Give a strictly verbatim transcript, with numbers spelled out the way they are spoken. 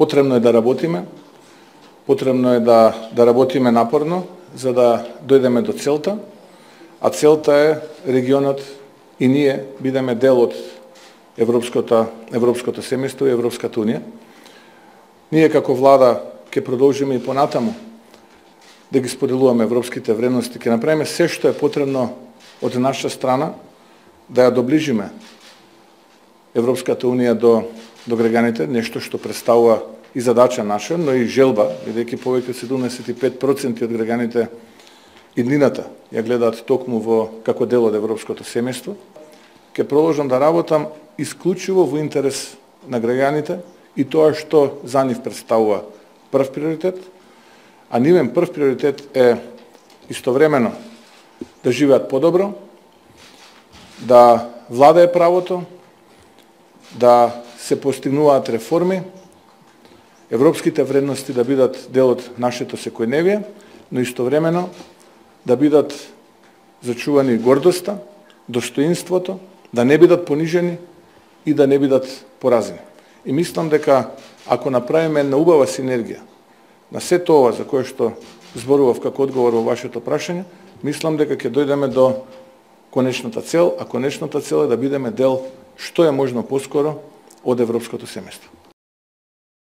Потребно е да работиме, потребно е да, да работиме напорно, за да дојдеме до целта, а целта е регионот и ние бидеме дел од Европското, Европското семејство и Европската унија. Ние како влада ќе продолжиме и понатаму да ги споделуваме европските вредности, ќе направиме се што е потребно од наша страна да ја доближиме Европската унија до, до граѓаните, нешто што представува и задача наша, но и желба, бидејќи повеќе од седумдесет и пет проценти од граѓаните иднината ја гледаат токму во како дел од Европското семејство. Ќе продолжам да работам исклучиво во интерес на граѓаните и тоа што за нив представува прв приоритет, а нивен прв приоритет е истовремено да живеат подобро, да владае правото, да се постигнуваат реформи, европските вредности да бидат дел од нашето секојдневие, но истовремено да бидат зачувани гордоста, достоинството, да не бидат понижени и да не бидат поразени. И мислам дека ако направиме една убава синергија на се тоа за кое што зборував како одговор во вашето прашање, мислам дека ќе дојдеме до конечната цел, а конечната цел е да бидеме дел што е можно поскоро од Европското семејство.